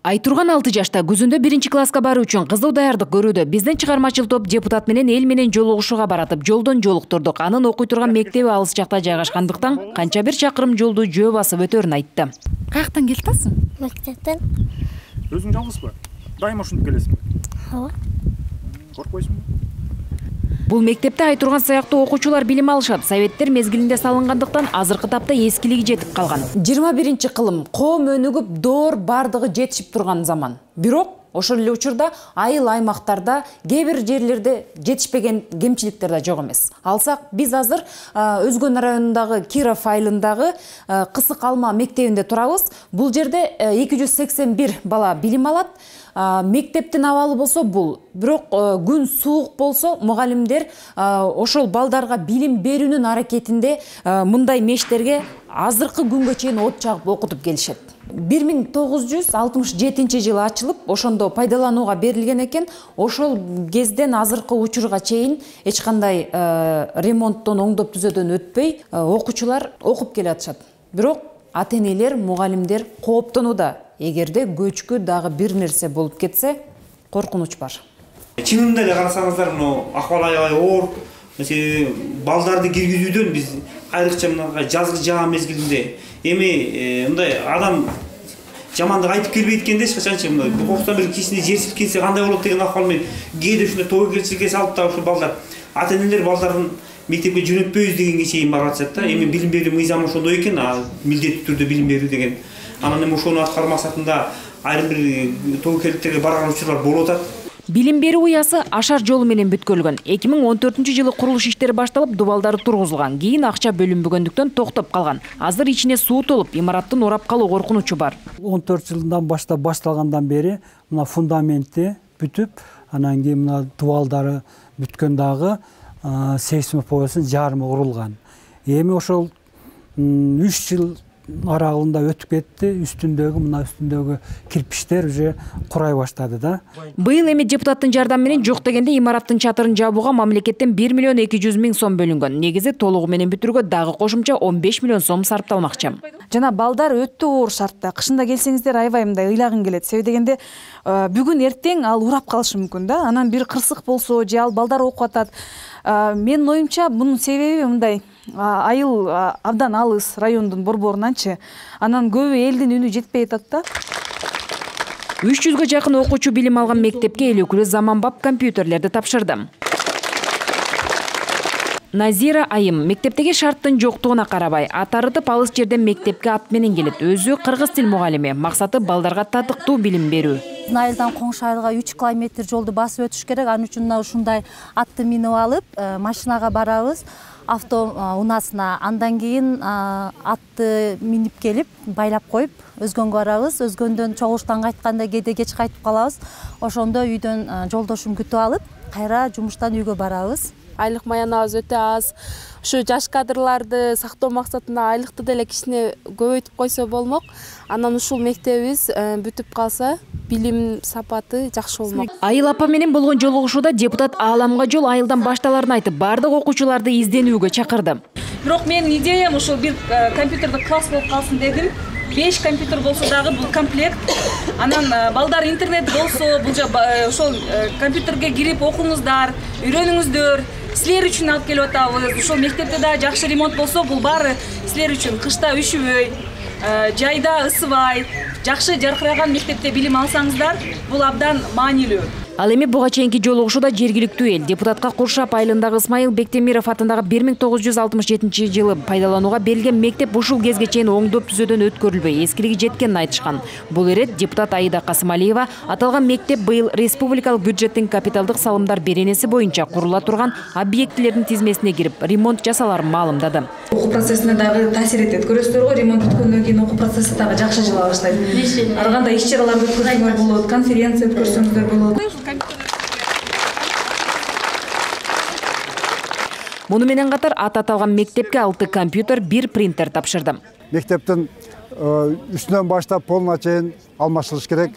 Айтурган 6 жашта күзүндө 1-класска баруу үчүн кызуу даярдык көрүүдө. Биздин чыгармачыл топ депутат менен эл менен жолугушууга баратып, жолдон жолуктурдук. Анын окуй турган мектеби алыс жакта жайгашкандыктан канча бир чакырым жолду жөө басып өтөрүн айтты. Каяктан келип атасың? Мектептен. Өзүң жалгызбы? Дайыма ушинтип келесиңби? Ооба. Коркпойсуңбу? Бул мектепте Айтурган сыяктуу окуучулар билим алышат. Советтер мезгилинде салынгандыктан азыркы тапта эскилиги жетип калган. 21-кылым коом өнүгүп, доор бардыгы жетишип турган заман. Бирок ошол эле учурда айыл аймактарда кээ бир жерлерде жетишпеген кемчиликтер да жок эмес. Алсак биз азыр Өзгөн районундагы Киров айылындагы Кысык Алма мектебинде турабыз. Бул жерде 281 бала билим алат. Мектептин абалы болсо бул. Бирок күн суук болсо мугалимдер ошол балдарга билим берүүнүн аракетинде мындай мештерге азыркы күнгө чейин от чагып окутуп келишет. 1967 жылы ачылып, ошондо пайдаланууга берилген экен. Ошол кезден азыркы учурга чейин эч кандай ремонттон, оңдоп түзөөдөн өтпөй окуучулар окуп келатышат. Бирок ата-энелер, мугалимдер кооптонууда. Эгерде көчкү дагы бир нерсе болуп кетсе, коркунуч бар. Чынында эле карасаңыздар, акыбал аябай оор. Балдарды киргизүүдөн биз айрыкча жазгы жаа мезгилинде эми мындай адам жамандык айтып келбейт экен да эч качанчы. Кокустан бир кичине жерсип кетсе кандай болот деген акыбал менен кээде ушундай тобокелчиликке салып да ушул балдар ата-энелер балдарын мектепке жөнөтпөйбүз дегенге чейин барып атышат да. Эми билим берүү мыйзамы ошондой экен, милдеттүү түрдө билим берүү деген. Анан эми ошону аткаруу максатында айрым бир тобокелдиктерге барган учурлар болуп атат. Билим берүү уясы ашар жолу менен бүткөрүлгөн. 2014-жылы курулуш иштери башталып, дубалдары тургузулган. Кийин акча бөлүнбөгөндүктөн токтоп калган. Азыр ичине суу толуп, имараттын урап калуу коркунучу бар. 14 жылдан баштап башталгандан бери мына фундаменти бүтүп, анан кийин мына дубалдары бүткөн дагы сейсмофобиясын жарымы урулган. Эми ошол 3 жыл аралыгында өтүп кетти, үстүндөгү кирпичтер уже курай баштады да. Быйыл эми депутаттын жардамы менен жок дегенде имараттын чатырын жабууга мамлекеттен 1 миллион 200 миң сом бөлүнгөн. Негизи толугу менен бүтүрүүгө дагы кошумча 15 миллион сом сарпталмакчы. Жана балдар өтө оор шартта. Кышында келсеңиздер аябай мындай ыйлагың келет. Себеби дегенде бүгүн эртең ал урап калышы мүмкүн да. Анан бир кырсык болсо, же ал балдар окуп атат. Менин оюмча мунун себеби мындай айыл абдан алыс райондун борборунанчы. Анан көбү элдин үнү жетпей атат да. 300гө жакын окуучу билим алган мектепке эл өкүлү заманбап компьютерлерди тапшырды. Назира айым мектептеги шарттын жоктугуна карабай, ат арытып алыс жерден мектепке ат менен келет. Өзү кыргыз тил мугалими. Максаты балдарга татыктуу билим берүү. Айылдан коңшу айылга 3 километр жолду басып өтүш керек. Анын үчүн ушундай атты минип алып, машинага барабыз, авто унаасына. Андан кийин атты минип келип, байлап коюп, Өзгөнгө барабыз. Өзгөндөн чогулуштан кайтканда кээде кеч кайтып калабыз. Ошондо үйдөн жолдошум күтүп алып, кайра жумуштан үйгө барабыз. Айлык маянабыз өтө аз. Ушу жаш кадрларды сактоо максатында айлыкты деле кичине көбөйтүп койсо болмок. Анан ушул мектебибиз бүтүп калса, билим сапаты жакшы болмок. Айыл апа менен болгон жолугушууда депутат ааламга жол айылдан башталарын айтып, бардык окуучуларды изденүүгө чакырды. Бирок менин идеям ушул бир компьютердик класс болуп калсын дедим. 5 компьютер болсо дагы бул комплект. Анан балдар интернет болсо, бул ошол компьютерге кирип окуңуздар, үйрөнүңүздөр. Силер үчүн алып келип атабыз. Ушул мектепте да жакшы ремонт болсо, бул баары силер үчүн. Кышта үшүбөй, жайда ысыбай, жакшы жаркыраган мектепте билим алсаңыздар, бул абдан маанилүү. Ал эми буга чейинки жолугушууда жергиликтүү эл депутатка Куршап айылындагы Исмайыл Бектемиров атындагы 1967 жылы пайдаланууга берилген мектеп ушул кезге чейин оңдоп түзөөдөн өткөрүлбөй, эскилиги жеткенин айтышкан. Бул эрет депутат Аида Касымалиева аталган мектеп быйыл республикалык бюджеттин капиталдык салымдар беренеси боюнча курула турган объектилердин тизмесине кирип, ремонт жасаларын маалымдады. Окуу процессине дагы таасир этет. Көрөсүздөр го, ремонт бүткөндөн кийин окуу процесси дагы жакшы жыла баштайт. Ар кандай иш-чараларды өткөрсөңөр болот, конференция өткөрсөңүздөр болот. Муну менен катар аталган мектепке 6 компьютер, 1 принтер тапшырды. Мектептин үстүнөн баштап полуна чейин алмаштырыш керек.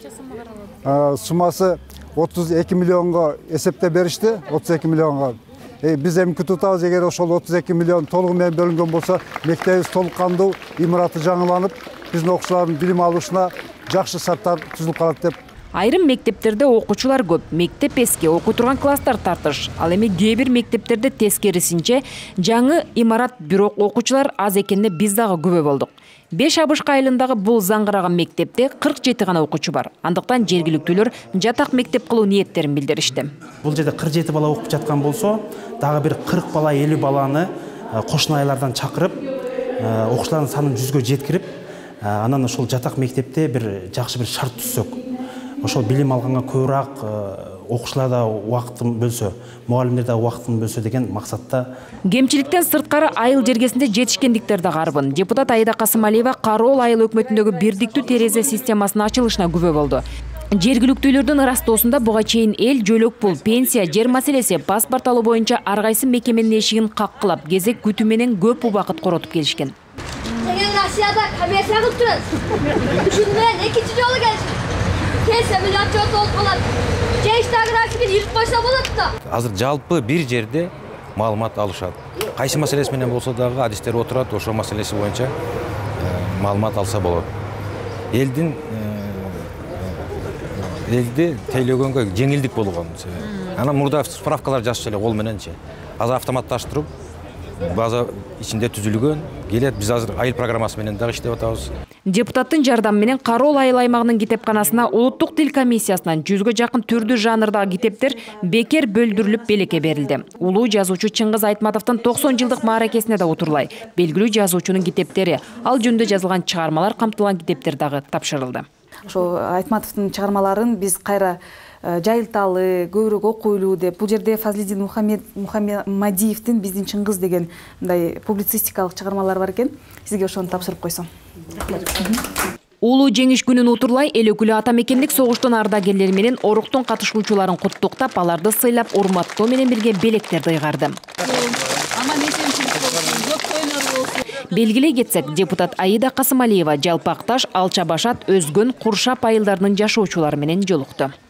Суммасы 32 миллионго эсептеп беришти, 32 миллионго. Биз эми күтүп атабыз, эгер ошол 32 миллион толугу менен бөлүнгөн болсо, мектебибиз толук кандуу, имараты жаңыланып, биздин окуучулардын билим алышына жакшы шарттар түзүлүп калат деп. Айрым мектептерде окуучулар көп, мектеп эски, окуй турган класстар тартыш. Ал эми кээ бир мектептерде тескерисинче жаңы имарат, бирок окуучулар аз экенине биз дагы күбө болдук. 5 Абышк айылындагы бул заңгыраган мектепте 47 гана окуучу бар. Андыктан жергиликтүүлөр жатак мектеп кылуу ниеттерин билдиришти. Бул жерде 47 бала окуп жаткан болсо, дагы бир 40 бала, 50 баланы кошуна айылдардан чакырып, окуучулардын санын 100гө жеткирип, анан ошол жатак мектепте бир жакшы бир шарт түзсөк, ошол билим алганга көбүрөөк окуучулар да убактын бөлсө, мугалимдер да убактын бөлсө деген максатта. Кемчиликтен сырткары айыл жергесинде жетишкендиктер да карбын. Депутат Аида Касымалиева Кароол айыл өкмөтүндөгү бирдиктүү терезе системасынын ачылышына күбө болду. Жергиликтүүлөрдүн ырастоосунда буга чейин эл, жөлөк пул, пенсия, жер маселеси, паспорт алуу боюнча ар кайсы мекеменин эшигин каккылап, кезек күтүү менен көп убакыт коротуп келишкен. Деген Россияда коммерция кылып турат. Ушуну менен экинчи жолу келишти. Келсе миллион жол болуп калат. Жештаг графикин ирип койсо болот да. Азыр жалпы бир жерде маалымат алышат. Кайсы маселеси менен болсо дагы адистер отурат, ошол маселеси боюнча маалымат алса болот. Элди тейлөгөнгө жеңилдик болгон. Анан мурда справкалар жазчу эле кол мененчи. Азыр автоматташтырып база ичинде түзүлгөн. Келет, биз азыр айыл программасы менен дагы иштеп атабыз. Депутаттын жардамы менен Кароол айыл аймагынын китепканасына улуттук тил комиссиясынан 100гө жакын түрдүү жанрдагы китептер бекер бөлдүрүлүп белекке берилди. Улуу жазуучу Чыңгыз Айтматовдун 90 жылдык мааракесине да утурлай. Белгилүү жазуучунун китептери, ал жөнүндө жазылган чыгармалар камтылган китептер дагы тапшырылды. Ошо Айтматовдун чыгармаларын биз кайра жайылталы, көбүрөөк окуйлуу деп, бул жерде Фазлидин Мухаммадиевдин Биздин Чыңгыз деген мындай публицистикалык чыгармалар бар экен. Сизге ошону тапшырып койсом. Улуу жеңиш күнүн утурлай, эл өкүлү ата мекендик согуштун ардагерлери менен оруктун катышуучуларын куттуктап, аларды сыйлап, урматтоо менен бирге белектерди ыйгарды. Белгилей кетсек, депутат Аида Касымалиева Жалпакташ, Алча Башат, Өзгөн, Куршап айылдарынын жашоочулары менен жолукту.